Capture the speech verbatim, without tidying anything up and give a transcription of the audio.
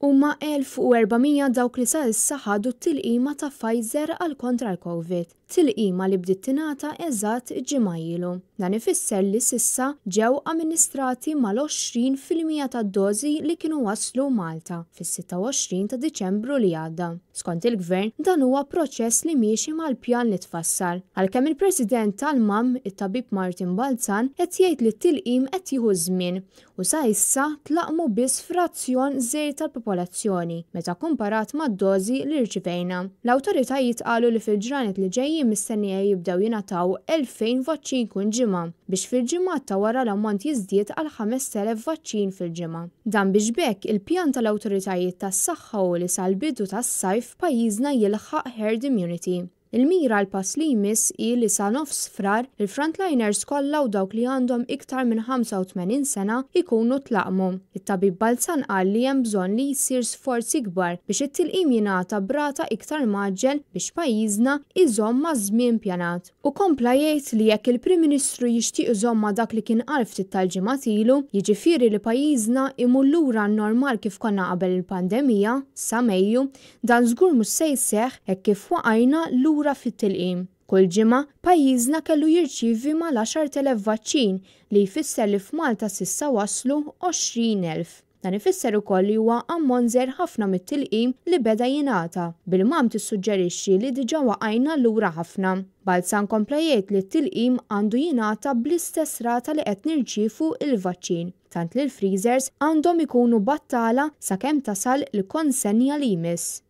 Huma elf u erba' mija dawk li sa issa ħadu t-tilqima ta' Pfizer għal kontra l-Covid, tilqima li bdiet tingħata eżatt ġimgħa ilu. Dan ifisser li s'issa ġew amministrati mal-għoxrin fil-mija tad-dożi li kienu waslu Malta fis-sitta u għoxrin ta' Diċembru li għadda. Skont il-Gvern, dan huwa proċess li miexi mal-pjan li tfassal. Għalkemm il-President tal-M A M, it-tabib Martin Balzan, qed jgħid li t-tilqim qed jieħu żmien u sa issa tlaqmu biss frazzjon żgħir tal-popolazzjoni meta komparat mad-dożi li rċivejna. L-awtoritajiet qalu li fil-ġranet li ġejjin mistennija jibdew jingħataw elfejn vaċċin kull ġimgħa biex fil-ġimgħat ta' wara l-ammont jiżdied għal ħamest elef vaċċin fil-ġimgħa. Dan biex b'hekk il-pjan tal-awtoritajiet tas-saħħa u li sal-bidu tas-sajf pajjiżna jilħaq herd immunity. Il-mira għal pass li jmiss hi li sa nofs frar il-frontliners kollha u dawk li għandhom iktar minn ħamsa u tmenin sena ikunu tlaqmu. It-tabib Balzan qal li hemm bżonn li jsir sforzi kbar biex it-tilqim jingħata b'rata iktar mgħaġġel biex pajjiżna iżomm ma' żmien pjanat. U kompla jgħid li jekk il-Prim Ministru jixtieq iżomm ma' dak li kien qal ftit tal-ġimgħat ilu, jiġifieri li pajjiżna imur lura n-normal kif konna qabel il-pandemija sa Mejju, dan żgur mhux se jseħħ hekk kif waqajna lura fit-tilqim. Kull ġimgħa pajjiżna kellu jirċievi mal-għaxar telef vaċċin li jfisser li f'Malta s'issa waslu għoxrin elf. Dan ifisser ukoll li huwa ammont żgħir ħafna mit-tilqim li beda jingħata, bil-M A M tissuġġerixxi li diġà waqajna lura ħafna. Balzan kompla jgħid li t-tilqim għandu jingħata bl-istess rata li qed nirċievu il-vaċċin, tant li l-freezers għandhom ikunu battala sakemm tasal il-konsenja li jmiss.